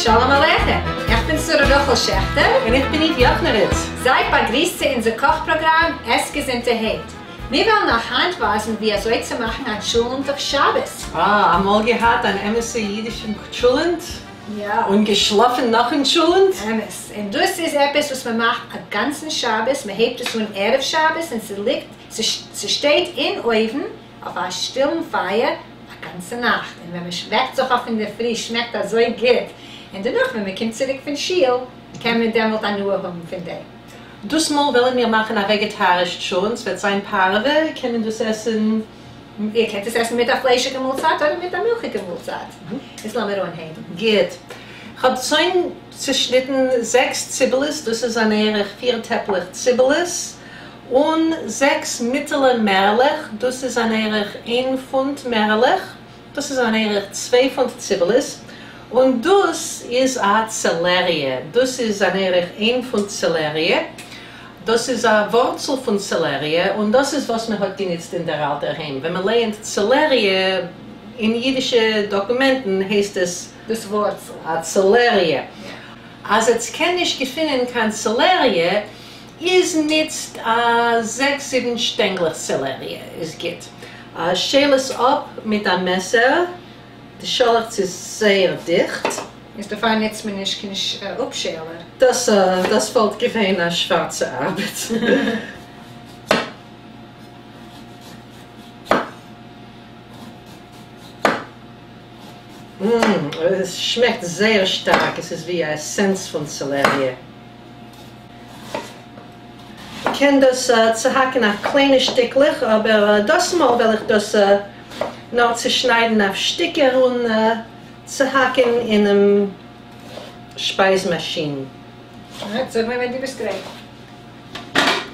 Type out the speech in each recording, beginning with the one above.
שלום עליכם! איך בין שרה רחל שעכטער. און איך בין איד יאכנעוויץ. זייט באגריסט צו אונזער קאך פראגראם עס געזונטערהייט. מיר וועלן אייך היינט ווייזן ווי אזוי צו מאכן א טשולענט אויף שבת. אה, אמאל געהאט אן אמת'ע אידישן טשולענט? יא. און געשלאפן נאכן טשולענט? אמת. און דאס איז עפעס וואס מען מאכט א גאנצן שבת, מען הייבט עס אן ערב שבת און ס'ליגט, ס'שטייט אין אויוון אויף א שטילן פייער א גאנצע נאכט, און ווען מען וועקט זיך אויף אינדערפרי שמעקט אזוי גוט, און דערנאך ווען מען קומט צוריק פון שול קען מען דעמאלט הנאה האבן פון דעם. דאס מאל וועלן מיר מאכן א וועגעטאריש טשולענט, ס'וועט זיין פארעווע, קען מען דאס עסן? איר קענט עס עסן מיט א פליישיגע מאלצייט אדער מיט א מילכיגע מאלצייט. איז לאמיר אנהייבן. גוט. כ'האב שוין צושניטן זעקס ציבעלעס, דאס איז אן ערך פיר טעפלעך ציבעלעס, און זעקס מיטעלע מערעלעך, דאס איז אן ערך איין פונט מערעלעך, דאס איז אן ערך צוויי פונט ציבעלעס, און דאס איז א צעלעריע, דאס איז אן ערך איין פונט צעלעריע, דאס איז א ווארצל פון צעלעריע, און דאס איז וואס מען האט גענוצט אין דער אלטער היים. ווען מען לייענט צעלעריע אין אידישע דאקומענטן הייסט עס. דאס ווארצל. א צעלעריע. אז עטס קען נישט געפינען קיין צעלעריע, איז ניצט א זעקס זיבן שטענגלעך צעלעריע איז גוט. שעל עס אפ מיט א מעסער, די שאלעכץ איז זייער דיכט. איז דערפאר ניצט מען נישט קיין אפשעלער. דאס דאס וואלט געווען א שווארצע ארבעט. עס שמעקט זייער שטארק, עס איז ווי א עסענס פון צעלעריע. מ'קען דאס צוהאקן אויף קליינע שטיקלעך, אבער דאס מאל וועל איך דאס נאר צושניידן אויף שטיקער און צוהאקן אינעם שפייז מאשין. Alright, זאג מיר ווען דו ביסט גרייט.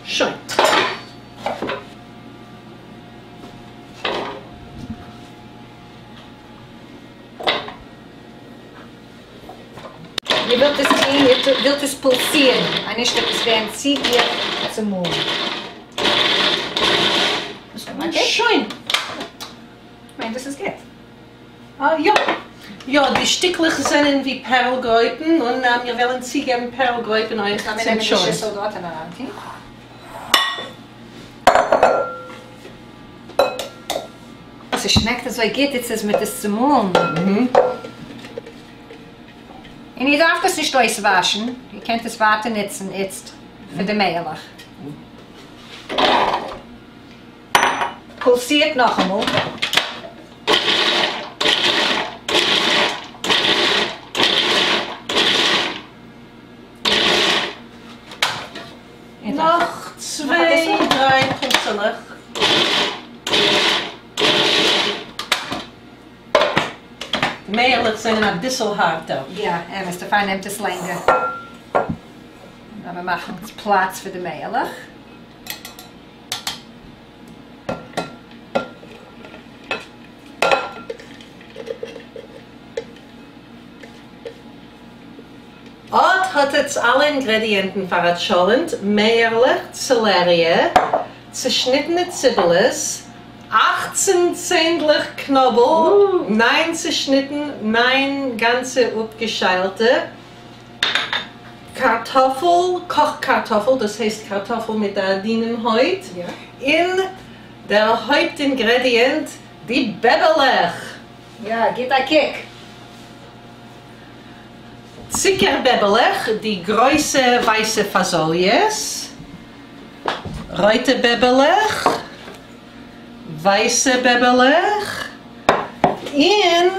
שוין. איר ווילט עס טון, איר ווילט עס פולסירן, אנישט וועט עס ווערן צו גיך צומאלן. שוין. כ'מיין דאס איז גוט. אה, יא. יא, די שטיקלעך זענען ווי פערל-גרויפן, און מיר וועלן צוגעבן פערל-גרויפן אויך לאמיר צום נעמען די טשולענט. שיסל דארט און אריינטון. ס'שמעקט אזוי גוט איצט אז מ'האט עס צומאלן. און איר דארפט עס נישט אויסוואשן, איר קענט עס ווייטער נוצן איצט פאר די מעלעך. פולסירט נאכאמאל. נאך צוויי דריי פולסעלעך. די מערעלעך זענען אביסל הארטער. יא, אמת, דערפאר נעמט עס לענגער. לאמיר מאכן פלאץ פאר די מערעלעך. אט האט עטס אלע אינגרעדיענטן פאר א טשולענט, מערעלעך, צעלעריע, צעשניטענע ציבעלעס, אכצן צענדלעך קנאבל, ניין צעשניטן, ניין גאנצע אפגעשיילטע, קארטאפל, קאך קארטאפל, דאס הייסט קארטאפל מיט א דינעם הויט, און דער הויפט אינגרעדיענט, די בעבעלעך! יא, גיט א קוק! צוקער בעבעלעך, די גרויסע ווייסע פאזאליעס, רויטע בעבעלעך, ווייסע בעבעלעך, און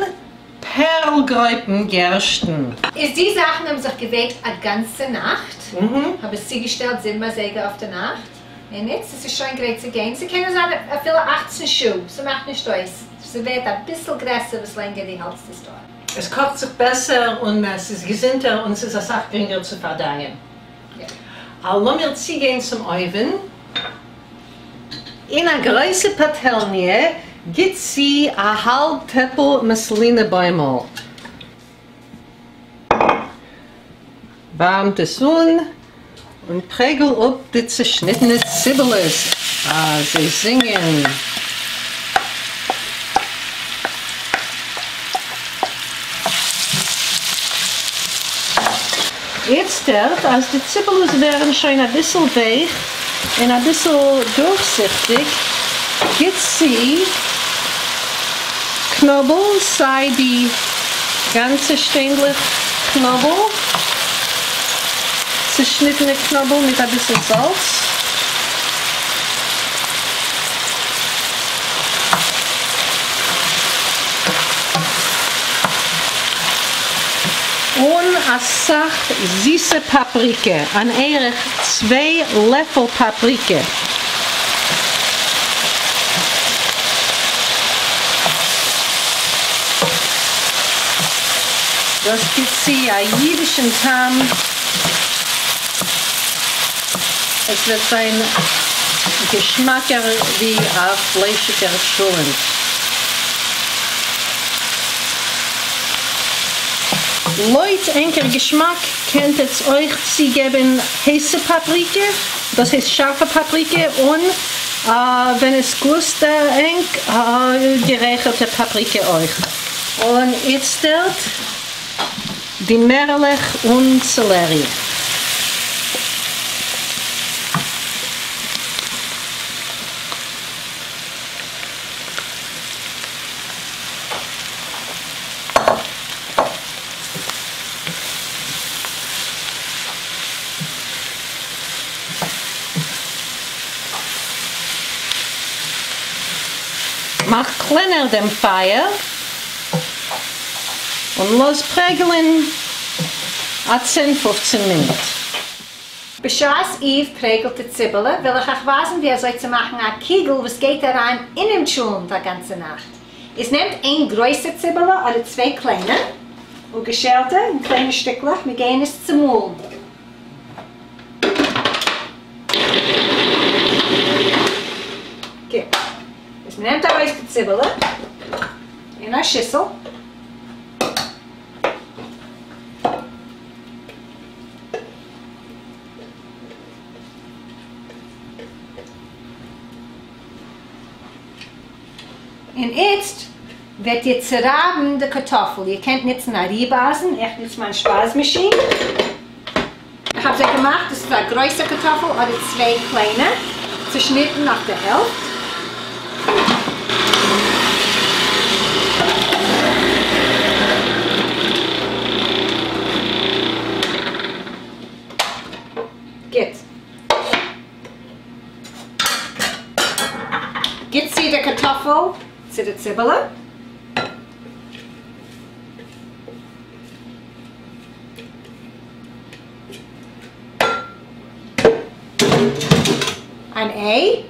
פערל-גרויפן גערשטן. איז די זאכן האבן זיך געוועבט א גאנצע נאכט, האב עס צוגעשטעלט זיבן אזייגער אויף די נאכט, און איצט עס איז שוין גרייט צו גיין, ס'קען זיין אפילו אכצן שעה, ס'מאכט נישט אויס, ס'ווערט אביסל גרעסער וואס לענגער די האלטסט עס דארט. עס קאכט זיך בעסער און עס איז געזונטער און ס'איז אסאך גרינגער צו פארדייען. לאמיר צוגיין צום אויוון. אין א גרויסע פאטעלניע גיט צו א האלב טעפל מאסלינע בוימל. ווארעמט עס אן און פרעגל אפ די צעשניטענע ציבעלעס. אה, זיי זינגען. איצטערט אז די ציבעלעס ווערן שוין אביסל ווייך און אביסל דורכזיכטיג, גיט צו קנאבל, סיי די גאנצע שטענדלעך קנאבל, צעשניטענע קנאבל מיט אביסל זאלץ, און אסאך זיסע פאפריקע, אן ערך צוויי לעפל פאפריקע. דאס גיט צו א אידישן טעם, עס וועט זיין געשמאקער ווי א פליישיגער טשולענט. לויט ענקער געשמאק קענט עטס אויך צוגעבן הייסע פאפריקע, דאס הייסט שארפע פאפריקע, און ווען עס גלוסט ענק גערייכערטע פאפריקע אויך. און איצטערט די מערעלעך און סעלערי. מאך קלענער דעם פייער און לאז פרעגלען א צען פופצען מינוט. בשעת איוו פרעגלט די ציבעלע וויל איך אייך ווייזן ווי אזוי צו מאכן א קיגל וואס גייט אריין אינעם טשולנט א גאנצע נאכט. איז נעמט איין גרויסע ציבעלע אדער צוויי קליינע אפגעשיילטע אין קליינע שטיקלעך, מיר גייען עס צומאלן. גוט. איז מ'נעמט ארויס די ציבעלע אין א שיסל. און איצט וועט איר צורייבן די קארטאפל, איר קענט נוצן א ריב-אייזן, איך נוץ מיין שפייז מאשין, איך האב זיי געמאכט, דאס איז א גרויסע קארטאפל אדער צוויי קליינע, צושניטן אויף די העלפט. גוט. גיט צו די קארטאפל צו די ציבעלע. אן איי.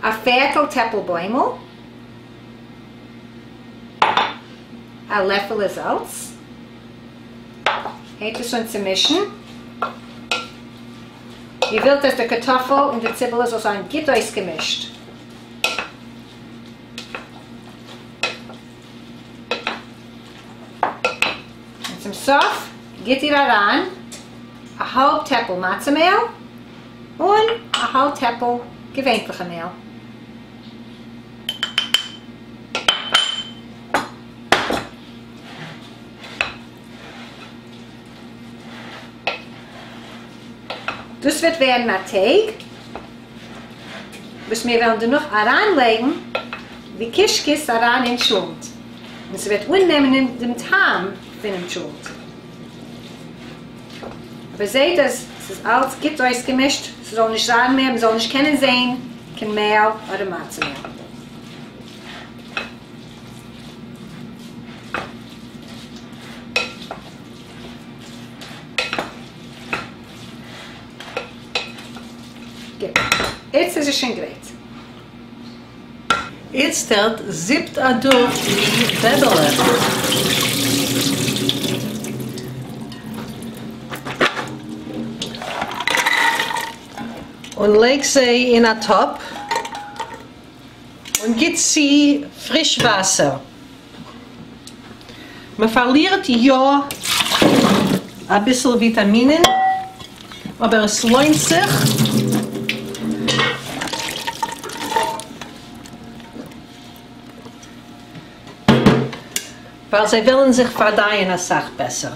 א פערטל טעפל בוימל. א לעפעלע זאלץ. הייבט עס אן צו מישן. איר ווילט אז די קארטאפל און די ציבעלע זאל זיין גוט אויסגעמישט. און צום סוף גיט איר אריין א האלב טעפל מצה מעהל און א האלב טעפל געווענטליכע מעהל. דאס וועט ווערן א טייג וואס מיר וועלן דערנאך אריינלייגן די קישקעס אריין אין טשולנט, און ס'וועט אננעמען דעם טעם פונעם טשולנט. אבער זעט אז ס'איז אלץ גוט אויסגעמישט, ס'זאל נישט זיין מער, מ'זאל נישט קענען זען קיין מעל אדער מצה מעל. גוט, איצט איז עס שוין גרייט. איצטערט זיפט אדורך די בעבעלעך. און לייג זיי אין א טאפ. און גיט צו פריש וואסער. מען פארלירט יא אביסל וויטאמינען, אבער עס לוינט זיך. ווייל זיי וועלן זיך פארדייען אסאך בעסער.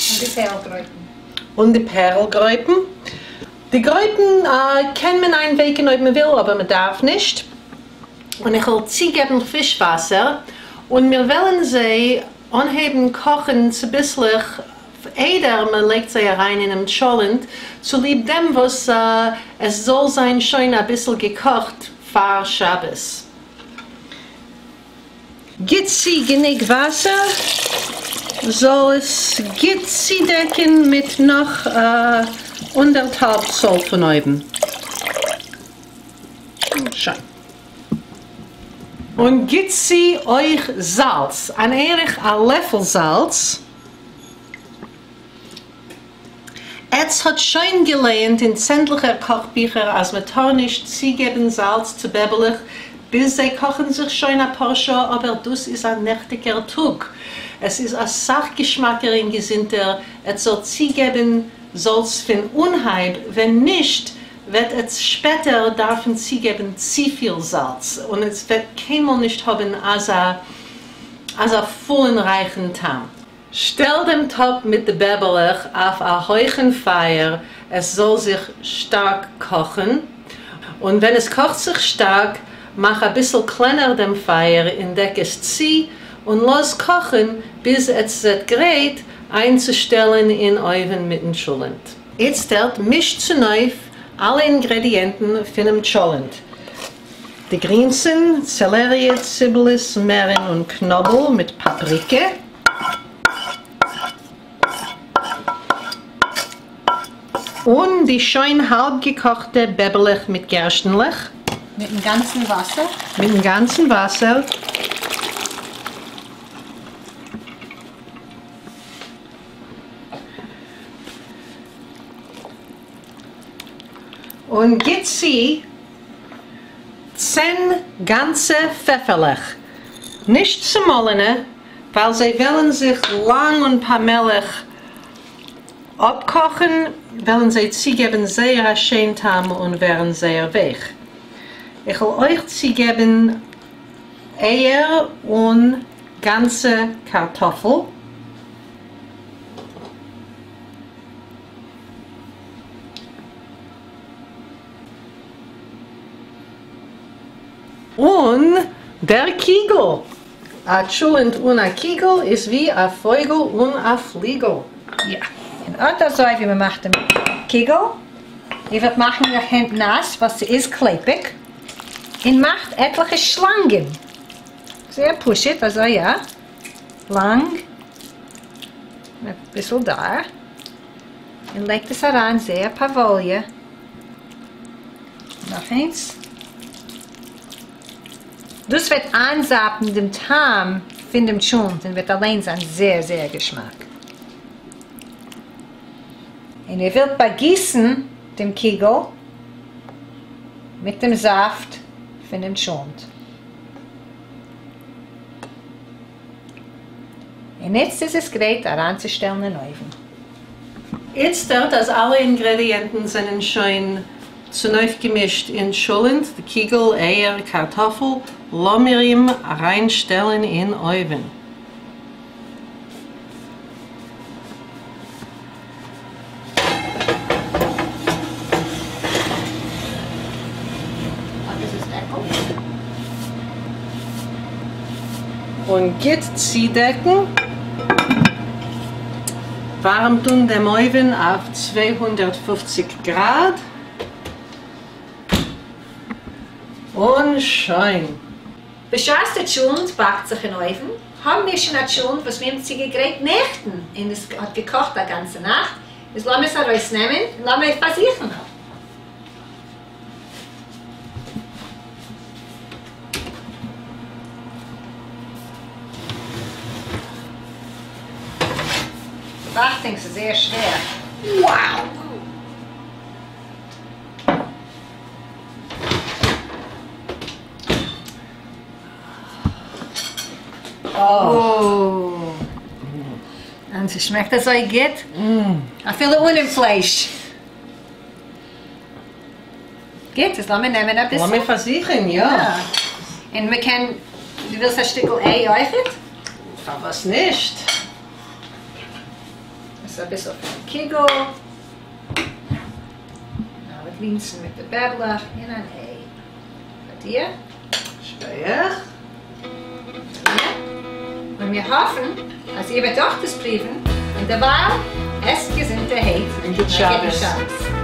און די פערלגרויפן. און די פערלגרויפן. די גרויפן קען מען איינווייקן אויב מען וויל אבער מען דארף נישט. און איך וועל צוגעבן פריש וואסער און מיר וועלן זיי אנהייבן קאכן צוביסלעך איידער מען לייגט זיי אריין אינעם טשולענט, צוליב דעם וואס עס זאל זיין שוין אביסל געקאכט פאר שבת. גיט צו גענוג וואסער זאל עס גוט צודעקן מיט נאך אנדערטהאלב צאל פון אויבן. שוין. און גיט צו אויך זאלץ, אן ערך א לעפל זאלץ. עטץ האט שוין געלייענט אין צענדליכער קאך ביכער אז מען טאר נישט צוגעבן זאלץ צו בעבעלעך ביז זיי קאכן זיך שוין אפאר שעה אבער דאס איז א נעכטיגער טאג עס איז אסאך געשמאקער אין געזונטער עטץ זאלט צוגעבן זאלץ פון אנהייב ווען נישט וועט עטץ שפעטער דארפן צוגעבן צופיל זאלץ און עס וועט קיינמאל נישט האבן אזא אזא פולן רייכן טעם. שטעל דעם טאפ מיט די בעבעלעך אויף א הויכן פייער עס זאל זיך שטארק קאכן, און ווען עס קאכט זיך שטארק מאך אביסל קלענער דעם פייער און דעק עס צו און לאז קאכן ביז עטס זעט גרייט איינצושטעלן אין אויוון מיטן טשולענט. איצטערט מישט צונויף אלע אינגרעדיענטן פונעם טשולענט, די גרינסן, צעלעריע, ציבעלעס, מערן און קנאבל מיט פאפריקע. און די שוין האלב געקאכטע בעבעלעך מיט גערשטנלעך. מיטן גאנצן וואסער. מיטן גאנצן וואסער. און גיט צו צען גאנצע פעפערלעך, נישט צומאלענע, ווייל זיי וועלן זיך לאנג און פאמעליך אפקאכן, וועלן זיי צוגעבן זייער א שיין טעם און ווערן זייער ווייך. איך וועל אויך צוגעבן אייער און גאנצע קארטאפל. און דער קיגל! א טשולענט אן א קיגל איז ווי א פויגל אן א פליגל. יא, און אט אזוי ווי מ'מאכט דעם קיגל, איר וועט מאכן אייער הענט נאס ווייל ס'איז קלעפיג, און מאכט עטליכע שלאנגען, זייער פשוט אזוי יא, לאנג, אביסל דאר, און לייגט עס אריין זייער פאוואליע, נאך איינס. דאס וועט איינזאפן דעם טעם פון דעם טשולנט און וועט אליין זיין זייער זייער געשמאק. און איר ווילט באגיסן דעם קיגל מיט דעם זאפט פון דעם טשולנט. און איצט איז עס גרייט אריינצושטעלן אין אויוון. איצטערט אז אלע אינגרעדיענטן זענען שוין צונויפגעמישט אין טשולענט, די קיגל, אייער, קארטאפל, לאמיר אים אריינשטעלן אין אויוון. און גוט צודעקן. ווארעמט אן דעם אויוון אויף 250 גראד. און שוין. בשעת די טשולנט באקט זיך אין אויוון, האבן מיר שוין א טשולנט וואס מיר האבן צוגעגרייט נעכטן און עס האט געקאכט א גאנצע נאכט, איז לאמיר עס ארויסנעמען און לאמיר פארזוכן. אכטונג ס'איז זייער שווער. Wow! ס'שמעקט אזוי גוט, אפילו אנעם פלייש. גוט, איז לאמיר נעמען אביסל. לאמיר פארזוכן, יא. און מ'קען, דו ווילסט א שטיקל איי אויכעט? פארוואס נישט? עס איז אביסל פון די קוגל. מיט לינזן מיט די בעבלעך און אן איי. פאר דיר. שכוח. און מיר האפן אז איר וועט אויך דאס פרואוון, און דערווייל, עסט געזונטערהייט און גוט שבת.